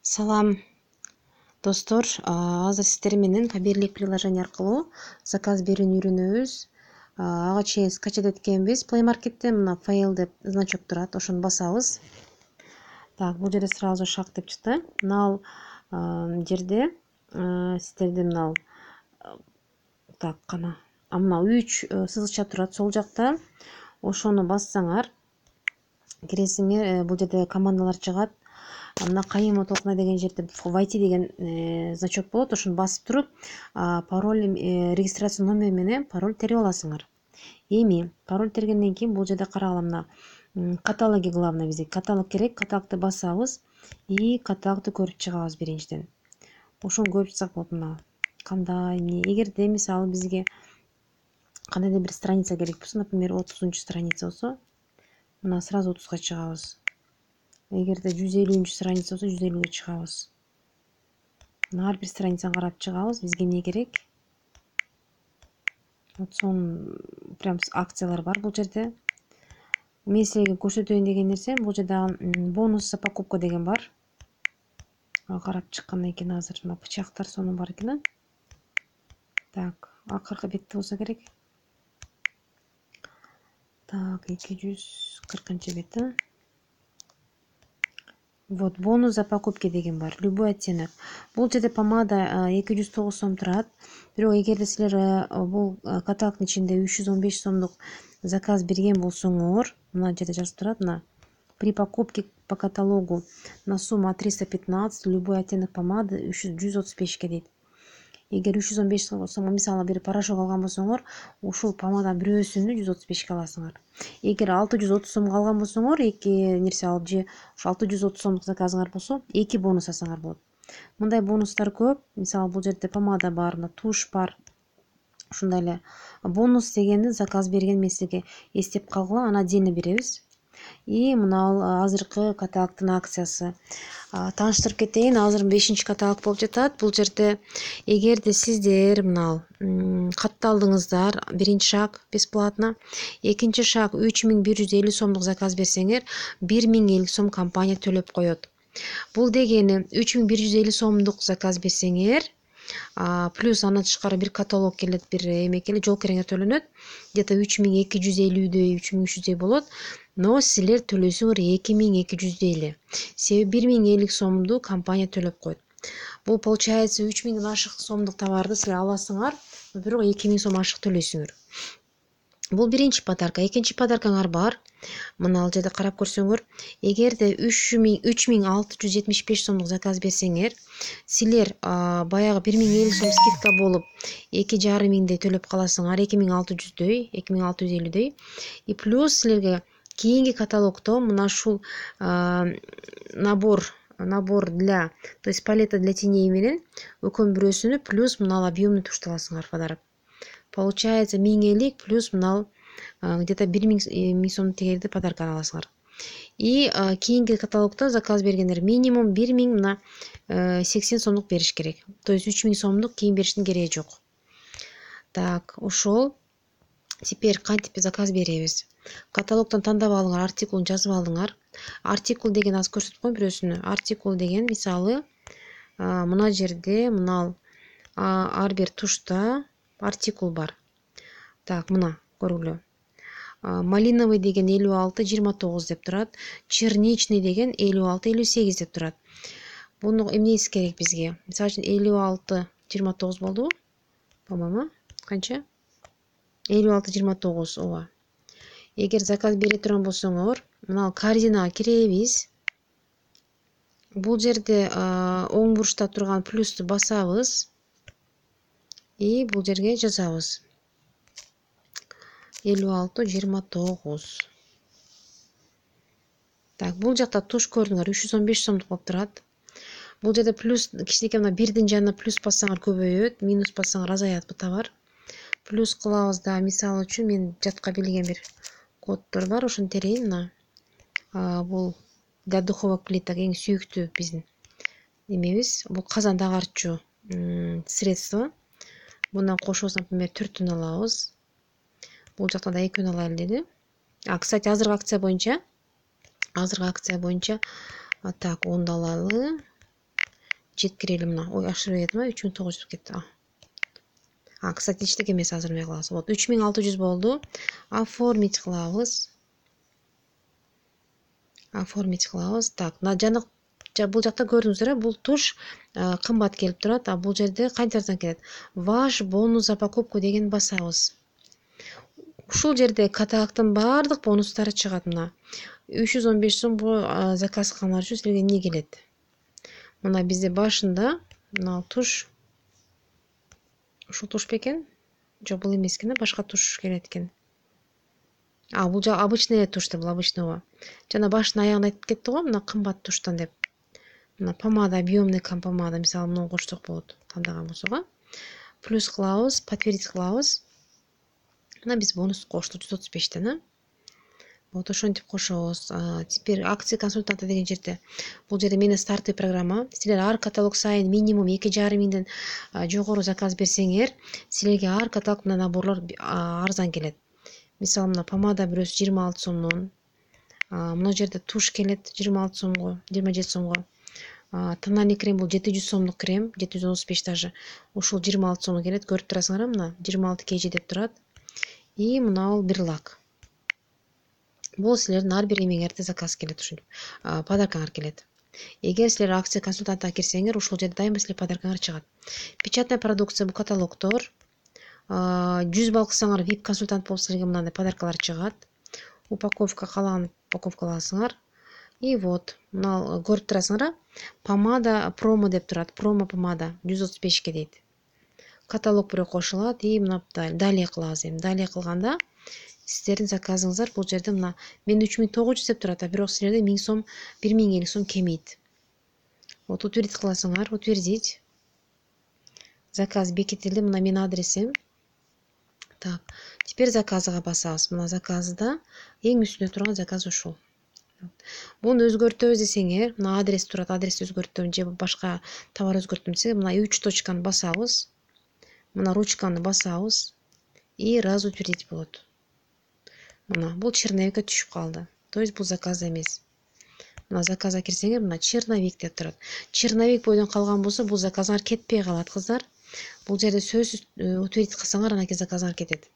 Салам достор, азыр сиздер менен Кабирлик приложение аркылуу заказ берүүнү үйрөнөбүз. Ага чейин скачать эткенбиз Play Market'тен. Мына файл деп значок турат, ошону басабыз. Так, бул жерде сразу шаг деп чыкты. Мына жерде сиздерде мына так кана. Мына 3 сызыкча турат сол жакта. Ошону бассаңар киресиңер, бул жерде командалар чыгат. Мына кайыма толкуна деген жерде войти деген значок болот. Ошону басып туруп, пароль, регистрация номери менен пароль терип аласыңар. Эми пароль тергенден кийин бул жерде карагыла, мына каталоги главное бизге. Каталог керек. Каталогду басабыз и каталогду көрүп чыгабыз биринчиден. Ошону көрүп чыксак болот. Мына кандай эмне. Эгерде мисалы бизге кандайдыр бир страница керек болсо, например, 30-страница болсо, мына сразу 30га чыгабыз. Эгерде 150 страница болсо 150-ге чыгабыз. Ар бир страницаны карап чыгабыз. Бизге эмне керек? Вот сонун прям акциялар бар бул жерде. Мен силерге көрсөтөйүн деген нерсе, бул жерде бонус за покупку деген бар. Карап чыккандан кийин азыр мына бычактар сонун бар экен. Так, акыркы бетте болсо керек. Так, 240 бет. Вот, бонус за покупки деген бар. Любой оттенок. Бул жерде помада 209 сом турат. Бирок эгерде силер бул каталогдун ичинде 315 сомдук заказ берген болсоңор, мына жерде жазып турат, мына при покупке по каталогу на сумму 315 любой оттенок помады 135 дейт. Эгер 315 сом мисалы бир порошок алган болсоңор, ушул помаданын бирөөсүнү 135 аласыңар. Эгер 630 сомго алган болсоңор, эки нерсе алып же 630 сомдук заказыңар болсо, 2 бонус алсаңар болот. Мындай бонустар көп. Мисалы бул жерде помада бар, туш бар. Ушундай эле бонус дегенди заказ берген мен сизге эстеп калгыла, аны отдельно беребиз. И мына азыркы каталогдун акциясы. Тааныштырып кетейин, азыр 5-каталог болуп жатат. Бул жерде эгерде сиздер мына катталдыңыздар, биринчи шаг бесплатно, экинчи шаг 3150 сомдук заказ берсеңер, 1050 сом компания төлөп коет. Бул дегени 3150 сомдук заказ берсеңер, плюс андан тышкары бир каталог келет, бир эме келет, жол кириңер төлөнөт. Где-то 3250-дөй, 3300-дөй болот. Но силер төлөсөңөр 2200 эле. Себеби 1050 сомду компания төлөп коет. Бул получается 3000 ашык сомдук товарды силер аласыңар, бирок 2000 сом ашык төлөйсүңөр. Бул биринчи подарка. Экинчи подаркаңар бар. Мына ал жерде карап көрсөңөр, эгерде 3675 сомдук заказ берсеңер, силер баягы 1050 сом скидка болуп 2500 төлөп каласыңар, 2600-дөй, 2650-дөй. И плюс силерге кийинки каталогдо мына ушул набор для, то есть палета для теней менен экөөнүн бирөөсүнү плюс мына объемный тушту аласыңар подарок. Получается 1050 плюс мына где-то 1000 сом тегерди подарканы аласыңар. И кийинки каталогдо заказ бергендер минимум 1000 мына 80 сомдук бериш керек. То есть 3000 сомдук кийин бериштин кереги жок. Так, ошол. Теперь кантип заказ беребиз? Каталогдон тандап алыңар, артикулун жазып алыңар. Артикул деген аз көрсөтүп коеюн бирөөсүнү. Артикул деген мисалы мына жерде мына ар бир тушта артикул бар. Так, мына көргүлө. Малиновый деген 56-29 деп турат. Черничный деген 56-58 деп турат. Буну эмнеси керек бизге? Мисалы үчүн 56-29 болдубу? По-моему, канча? 56-29, ооба. Эгер заказ бере турган болсоңор, мына корзинага киребиз. Бул жерде оң бурчта турган плюсту басабыз и бул жерге жазабыз 56-29. Так, бул жакта туш көрдүңөр, 315 сомдук болуп турат. Бул жерде плюс кичинекей мына бирдин жанына плюс бассаңар көбөйөт, минус бассаңар азаят бу товар. Плюс кылабыз да, мисалы үчүн мен жатка билген бир коддор бар, ошону терейин. Мына бул для духовок плиток эң сүйүктүү биздин эмебиз. Бул казан дагартчу средство. Мына кошобуз, например, 4түн алабыз. Бул жакта да 2 алайлы деди. Кстати, азыркы акция боюнча так, 10 алалы. жеткирели мына. Ой, ашырып кетти, 3900 болуп кетти. Кстати, эчтеке эмес азырмай кылабыз. Вот 3600 болду. Оформить кылабыз. Оформить кылабыз. Так, жана бул жакта көрдүңүздөр, бул туш кымбат келип турат, а бул жерде канча арзан келет. Ваш бонус за покупку деген басабыз. Ушул жерде каталогдун баардык бонустары чыгат мына. 315 сомго заказ кылгандар үчүн силерге эмне келет? Мына бизде башында мына туш. Ушул туш бекен? Жок, бул эмес экен, башка туш келет экен. Бул обычный туш да, бул обычныйго. Жана башын аягында айтып кетти го, мына кымбат туштан деп. Мына помада, объемный помада, мисалы, муну кошсок болот, тандаган болсок, плюс кылабыз, подтвердить кылабыз. Мына биз бонус коштук 135тен, Вот ошентип кошобуз. Теперь акция консультанта деген жерде. Бул жерде менин стартовый программа. Силер ар каталог сайын минимум 2,5 миңден жогору заказ берсеңер, силерге ар каталог менен наборлор арзан келет. Мисалы, мына помада бирөөсү 26 сомдон. Мына жерде туш келет 26 сомго, 27 сомго. Тональный крем бул 700 сомдук крем, 735 даже. Ушул 26 сомго келет. Көрүп турасыңар, мына 26 kg деп турат. И мына бул бир лак. Бул силердин ар бир эмеңерде заказ келет, ушинтип подаркаңар келет. Эгер силер акция консультантына кирсеңер, ушул жерде дайыма силер подаркаңар чыгат. Печатная продукция, бул каталогдор. 100 балл кылсаңар VIP консультант болуп силерге мындай подаркалар чыгат. Упаковка, калаган упаковка аласыңар. И вот, мына көрүп турасыңар, помада промо деп турат. Промо помада 135 дейт. Каталог бирөө кошулат и мына далее кылабыз. Далее кылганда сиздердин заказыңыздар бул жерде мына мен 3900 деп турат, бирок силерде 1000 сом, 1050 сом кемейт. Вот утвердить кыласыңар, утвердить. Заказ бекитилди, мына менин адресим. Так, теперь заказга басабыз. Мына заказда эң үстүндө турган заказ ушул. Буну өзгөртөбүз десеңер, мына адрес турат, адрести өзгөртөм же башка товар өзгөртөм десеңер, мына 3 точканы басабыз. Мына ручканы басабыз и раз утвердить болот. Мына бул черновикке түшүп калды. То есть бул заказ эмес. Мына заказга кирсеңер, мына черновик деп турат. Черновик бойдон калган болсо, бул заказыңар кетпей калат, кыздар. Бул жерде сөзсүз утвердить кылсаңар, анан кийин заказыңар кетет.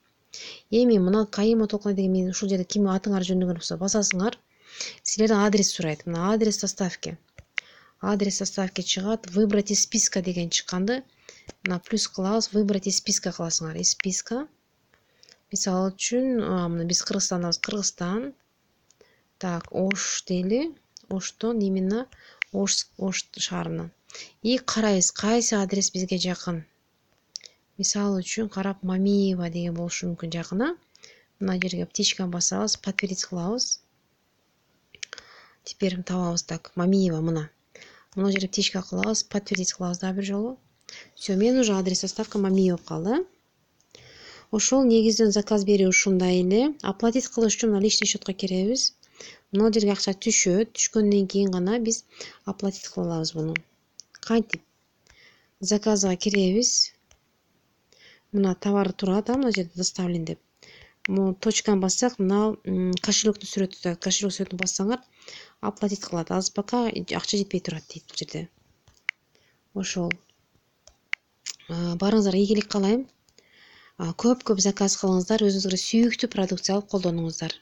Эми мына Кайыма толкуна деген мен ушул жерде ким атыңар жөнүгөн болсо басасыңар. Силерден адрес сурайт. Мына адрес составки. Адрес составки чыгат. Выбрать из списка деген чыкканды. Мына плюс кылабыз, выбрать из списка кыласыңар. Из списка. Мисалы үчүн, мына биз Кыргызстандабыз, Кыргызстан. Так, Ош дейли. Оштон именно Ош шаарынан. И карайбыз, кайсы адрес бизге жакын. Мисалы үчүн карап Мамиева деген болушу мүмкүн жакына. Мына жерге птичканы басабыз, подтвердить кылабыз. Теперь табабыз, так, Мамиева мына. Мына жерге птичка кылабыз, подтвердить кылабыз да бир жолу. Всё, мен уже адрес составка Мамиева калды. Ошол негизден заказ берүү ушундай эле. Оплатить кылыш үчүн личный счетко киребиз. Мына жерге акча түшөт. Түшкөндөн кийин гана биз оплатить кыла алабыз буну. Кантип? Заказга киребиз. Мына товар турат, мына жерде доставлен деп. Мына точканы бассак, мына кошелектин сүрөтү, кошелек сүрөтүн бассаңар, оплатить кылат. Азыр пока акча жетпей турат дейт бул жерде. Ошол. Барыңыздарга ийгилик каалайм. Көп заказ кылыңыздар, өзүңүзгө сүйүктүү продукция алып колдонуңуздар.